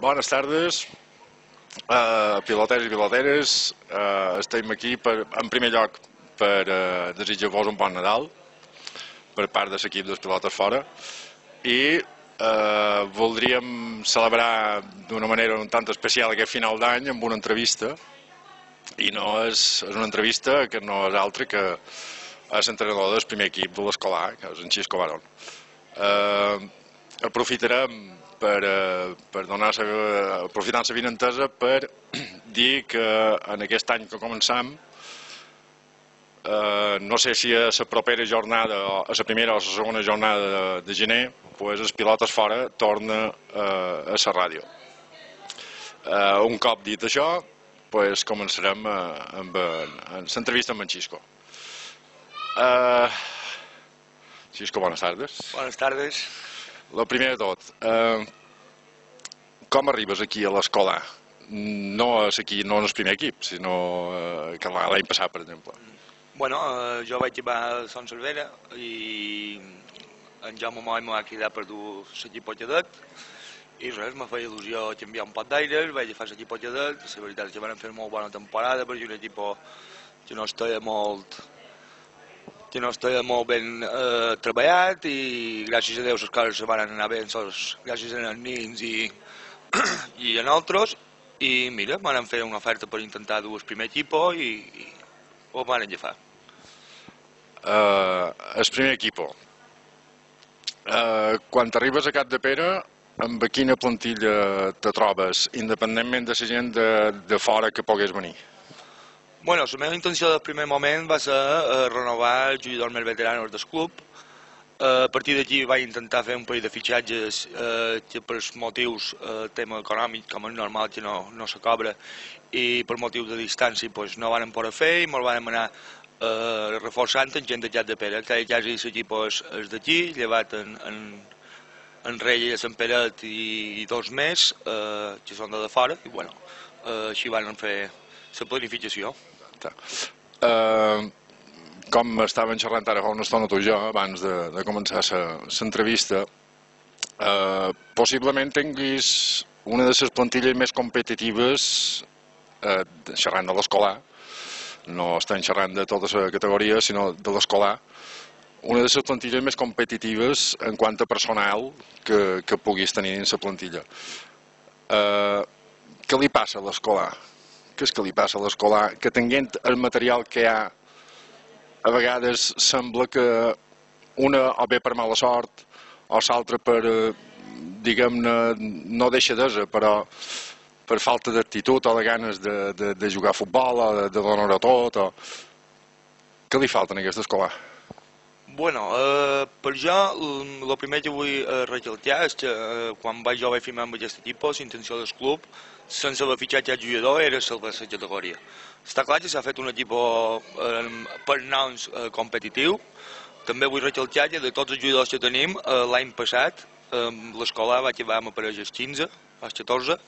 Bones tardes, piloters i piloteres. Estem aquí, en primer lloc, per desitjar-vos un bon Nadal per part de l'equip dels pilotes fora i voldríem celebrar d'una manera un tant especial aquest final d'any amb una entrevista, i no és una entrevista que no és altra que és l'entrenador del primer equip de l'escolar, que és en Xisco Barón. Aprofitarem aprofitant la vinentesa per dir que en aquest any que començam, no sé si a la propera jornada, a la primera o a la segona jornada de gener, els pilotes fora torna a la ràdio. Un cop dit això, començarem amb l'entrevista amb en Xisco. Xisco, bones tardes. Bones tardes. El primer de tot, com arribes aquí a l'escola? No és aquí, no en el primer equip, sinó que l'any passat, per exemple. Bueno, jo vaig arribar a Son Cervera i en Jaume Moll m'ha cridat per dur l'equip cadet i res, me feia il·lusió canviar un pot d'aires, vaig fer l'equip cadet. La veritat és que van fer una molt bona temporada perquè un equip que no estava molt ben treballat i gràcies a Déu les coses se van anar bé gràcies als nins i a nosaltres, i mira, van fer una oferta per intentar dur el primer equip i ho van agafar. El primer equip, quan arribes a Capdepera, amb quina plantilla te trobes, independentment de la gent de fora que pogués venir? Bueno, la meva intenció del primer moment va ser renovar els jugadors més veteranos del club. A partir d'aquí vaig intentar fer un parell de fitxatges que per motius tema econòmic, com és normal que no se cobra, i per motius de distància no van poder fer i me'l vam anar reforçant en gent de Capdepera. Quasi l'equip és d'aquí, llevat en Rei i Sant Peret i dos més que són de fora, i bueno, així van fer la planificació. Com estàvem xerrant ara fa una estona tu i jo, abans de començar l'entrevista, possiblement tinguis una de les plantilles més competitives, xerrant de l'escolar, no estem xerrant de tota la categoria, sinó de l'escolar, una de les plantilles més competitives en quant a personal que puguis tenir en la plantilla. Què li passa a l'escolar? Què és que li passa a l'escolar? Que tenint el material que hi ha, a vegades sembla que una o bé per mala sort o l'altra per, diguem-ne, no deixadesa, però per falta d'actitud o de ganes de jugar a futbol o de donar-ho tot. Què li falta en aquesta escolar? Bueno, per jo, el primer que vull recalcar és que quan jo vaig firmar amb aquest equip, la intenció del club, sense haver fitxat cap jugador, era salvar la categoria. Està clar que s'ha fet un equip per noms competitiu. També vull recalcar que de tots els jugadors que tenim, l'any passat, l'escola va acabar amb aparells 15, els 14,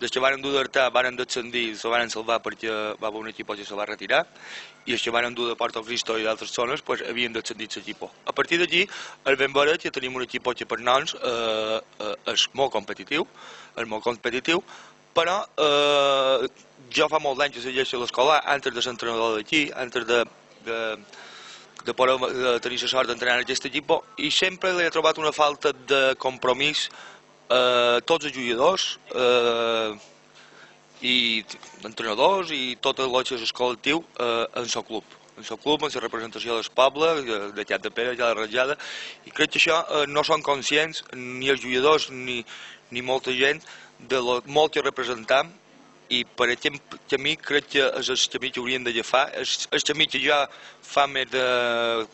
des que van dur d'Artà, van descendir, se van salvar perquè va haver un equip que se va retirar, i els que van dur de Porto Cristo i d'altres zones havien descendit l'equip. A partir d'aquí, el ben veure que tenim un equip que per noms és molt competitiu, però jo fa molt d'anys que segueixo l'escola, antes de ser entrenador d'aquí, antes de poder tenir la sort d'entrenar en aquest equip, i sempre he trobat una falta de compromís tots els jugadors i entrenadors i tot el que és el col·lectiu en el club. En el club, en la representació del poble, de Capdepera, de la Rajada, i crec que això no són conscients ni els jugadors ni molta gent de lo molt que representam, i per aquest camí crec que és el camí que hauríem d'agafar, és el camí que ja fa més de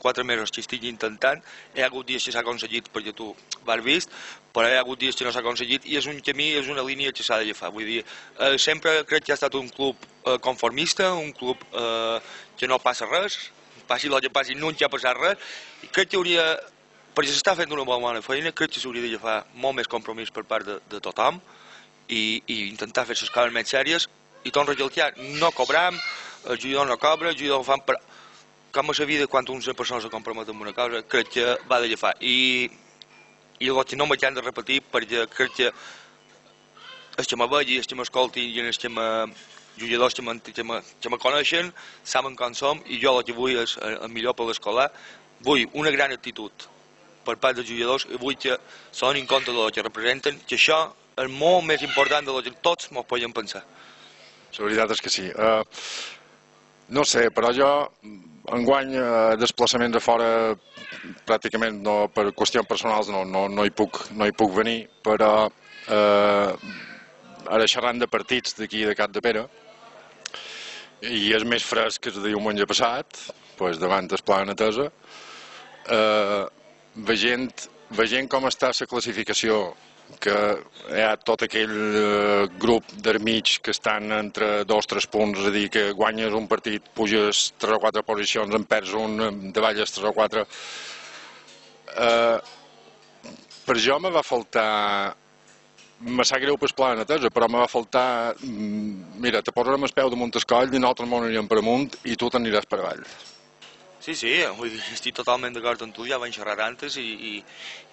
4 mesos que estic intentant. Hi ha hagut dies que s'ha aconseguit perquè tu vas vist, però hi ha hagut dies que no s'ha aconseguit, i és un camí, és una línia que s'ha d'agafar. Vull dir, sempre crec que ha estat un club conformista, un club que no passa res, passi el que passi, no hi ha passat res, i crec que hauria, perquè s'està fent una bona feina, crec que s'hauria d'agafar molt més compromís per part de tothom, i intentar fer les coses més sèries, i torno a recalcar, no cobram, el jugador no cobra, el jugador ho fan, però com a la vida, quan una persona se compromet amb una cosa, crec que va d'agafar. I el que no m'he de repetir, perquè crec que els que me vegi, els que m'escoltin i els que jugadors que me coneixen saben com som i jo el que vull és el millor per l'escolar. Vull una gran actitud per part dels jugadors i vull que se donin compte del que representen, que això és molt més important del que tots ens podem pensar. La veritat és que sí. No sé, però jo enguany desplaçaments a fora pràcticament no, per qüestions personals no hi puc venir, però ara xerrant de partits d'aquí de Capdepera i és més fresc que el de diumenge passat, doncs davant el Pla Natesa, veient com està la classificació, que hi ha tot aquell grup d'armig que estan entre 2-3 punts, és a dir, que guanyes un partit, puges 3 o 4 posicions, en perds un, davalles 3 o 4. Per jo me va faltar, me sap greu per el Pla Natesa, però me va faltar, mira, te posarem el peu damunt el coll i nosaltres m'ho anirem per amunt i tu t'aniràs per avall. Sí, vull dir, estic totalment d'acord amb tu, ja vam xerrar antes i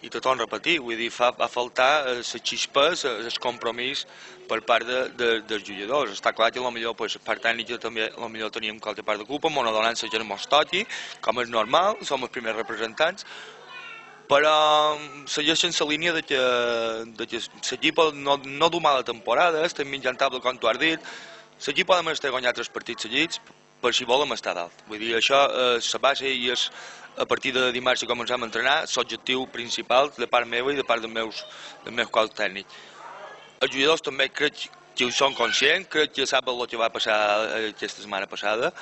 te torno a repetir, vull dir, va faltar les xispes, el compromís per part dels jugadors. Està clar que potser pues, part tècnica també potser teníem qualque part de culpa, m'ho donen la gent mos toqui, com és normal, som els primers representants, però segueixen la línia de que l'equip no du mala temporada, estem mitjan taula com tu has dit, l'equip ha de guanyar 3 partits seguits, per si volem estar dalt. Vull dir, això és la base i és a partir de dimarts que començam a entrenar l'objectiu principal de part meva i de part del meu cos tècnic. Els jugadors també crec que ho són conscients, crec que saben el que va passar aquesta setmana passada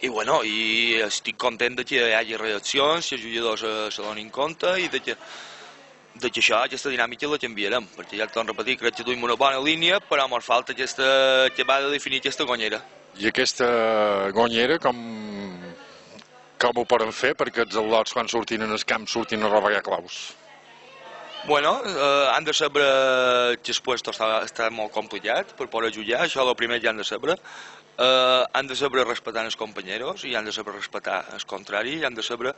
i bueno, i estic content que hi hagi reaccions, que els jugadors se donin compte i de que aquesta dinàmica la canviarem, perquè ja et torno a repetir, crec que duim una bona línia, però ens falta aquesta que va de definir aquesta guanyera. I aquesta guanyera, com ho poden fer perquè els al·lots quan surtin en el camp surtin a robar claus? Bueno, han de saber que el puesto està molt complicat per poder jugar, això és el primer que han de saber. Han de saber respectar els companys i han de saber respectar el contrari i han de saber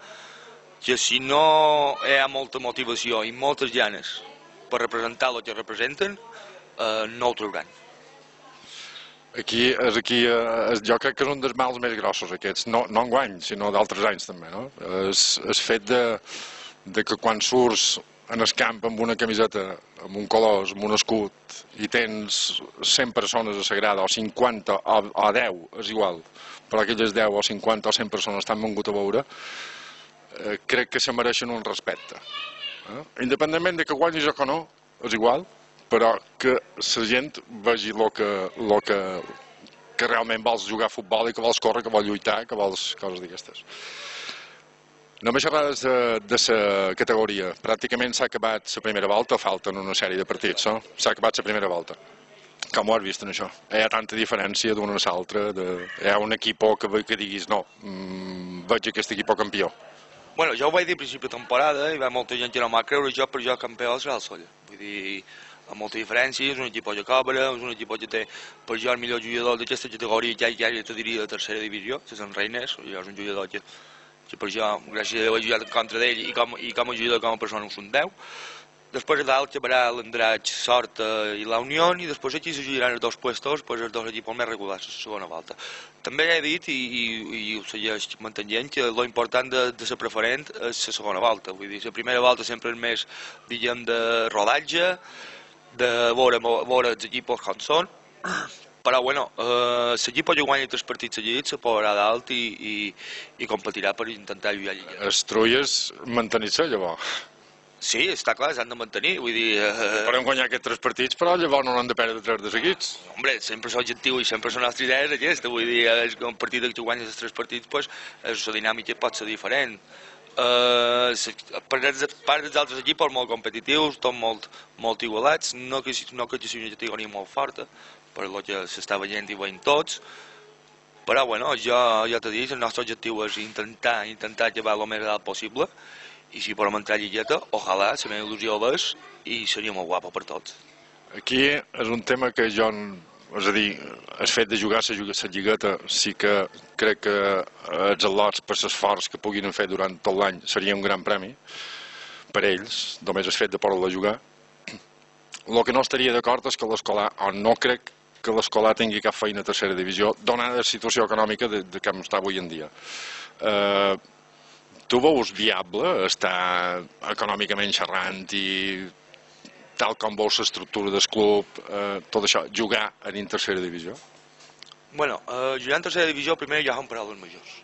que si no hi ha molta motivació i moltes ganes per representar el que representen, no ho trauran. Jo crec que és un dels mals més grossos aquests, no enguany, sinó d'altres anys també, no? El fet de que quan surts en el camp amb una camiseta, amb un color, amb un escut, i tens 100 persones a la grada, o 50, o 10, és igual, però aquelles 10 o 50 o 100 persones t'han vengut a veure, crec que se mereixen un respecte. Independentment de que guanyis o que no, és igual, però que la gent vegi el que realment vols jugar a futbol i que vols córrer, que vols lluitar, que vols coses d'aquestes. Només xerrades de la categoria. Pràcticament s'ha acabat la primera volta, falten una sèrie de partits, no? S'ha acabat la primera volta. Com ho has vist en això? Hi ha tanta diferència d'una a l'altra, hi ha un equip que diguis no, veig aquest equip campió. Bueno, jo ho vaig dir a principi de temporada i va molta gent que no m'ha creure, per jo campió serà el Solla. Vull dir, amb molta diferència, és un equip que cobra, és un equip que té per jo el millor jugador d'aquesta categoria, ja te diria de tercera divisió, que és en Reines, és un jugador que per jo, gràcies a Déu, he jugat en contra d'ell i com a jugador, com a persona, ho són 10. Després a dalt quedarà l'Andratx, Sort i la Unió, i després aquí se jugaran els 2 puestos, els 2 equips més regulars a la segona volta. També he dit, i ho segueix mantenint, que l'important de ser preferent és la segona volta. Vull dir, la primera volta sempre és més, diguem, de rodatge, de veure els equips com són, però bueno, l'equip que guanya 3 partits seguits se posarà dalt i competirà per intentar lluitar lliga. Els Trulles mantenir-se llavors? Sí, està clar, s'han de mantenir, vull dir... Podem guanyar aquests 3 partits, però llavors no n'han de perdre 3 de seguits. Hombre, sempre és l'objectiu i sempre la nostra idea és aquesta, vull dir, un partit que tu guanyes els 3 partits, doncs la dinàmica pot ser diferent. Per part dels altres equips molt competitius, tot molt igualats, no que sigui una categoria molt forta, per el que s'està veient i veient tots, però bueno, jo t'he dit, el nostre objectiu és intentar llevar el més alt possible, i si podem entrar a lligueta, ojalà, la meva il·lusió és, i seria molt guapo per tots. Aquí és un tema que jo, és a dir, el fet de jugar la lligueta sí que crec que els al·lots per l'esforç que puguin fer durant tot l'any seria un gran premi per ells, només el fet de poder-la jugar. El que no estaria d'acord és que l'escolar, o no crec que l'escolar tingui cap feina a tercera divisió, donada la situació econòmica de com està avui en dia. Tu veus viable estar econòmicament xerrant i tal com veus l'estructura del club, tot això, jugar en tercera divisió? Bueno, jugar en tercera divisió, primer, ja són paraules majors.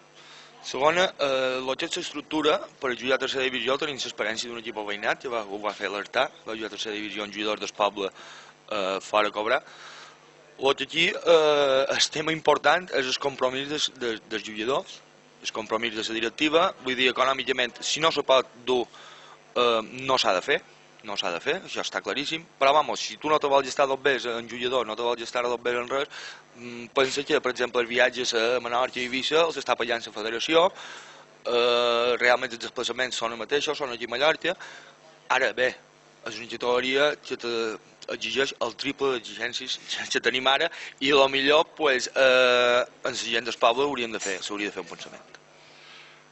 Segona, el que és l'estructura, per jugar a tercera divisió tenim l'experiència d'un equip veïnat, que ho va fer l'Artà, va jugar a tercera divisió en jugadors del poble fora a cobrar. El que aquí el tema important és el compromís dels jugadors, el compromís de la directiva, vull dir, econòmicament, si no se pot dur, no s'ha de fer, això està claríssim, però vamos, si tu no te vols estar dos bé en jugador, no te vols estar dos bé en res, pensa que, per exemple, els viatges a Menorca i Eivissa els està pagant la federació, realment els desplaçaments són els mateixos, són aquí a Mallorca. Ara bé, és una categoria que exigeix el triple d'exigències que tenim ara i potser pues, en la gent del poble s'hauria de fer un pensament.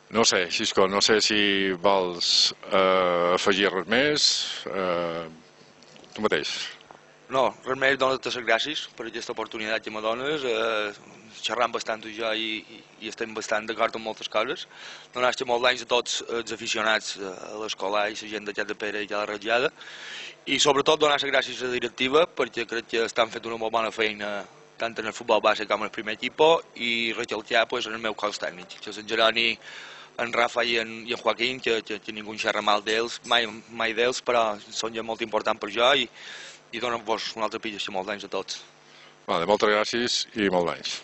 No sé, Xisco, no sé si vols afegir res més. Tu mateix. No, res més, donar-te les gràcies per aquesta oportunitat que me dones. Xerram bastant tu i jo i estem bastant d'acord amb moltes coses. Donar-te molts anys a tots els aficionats a l'escolar i la gent d'aquest de Pere i de la Ratllada. I sobretot donar les gràcies a la directiva perquè crec que estan fent una molt bona feina tant en el futbol base com en el primer equip i recalcar pues, en el meu cos tècnic, que és en Jeroni, en Rafa i en Joaquín, que ningú en xerra mal d'ells, mai d'ells, però són ja molt importants per jo i donen-vos un altre pillo, molts anys a tots. Vale, moltes gràcies i molts anys.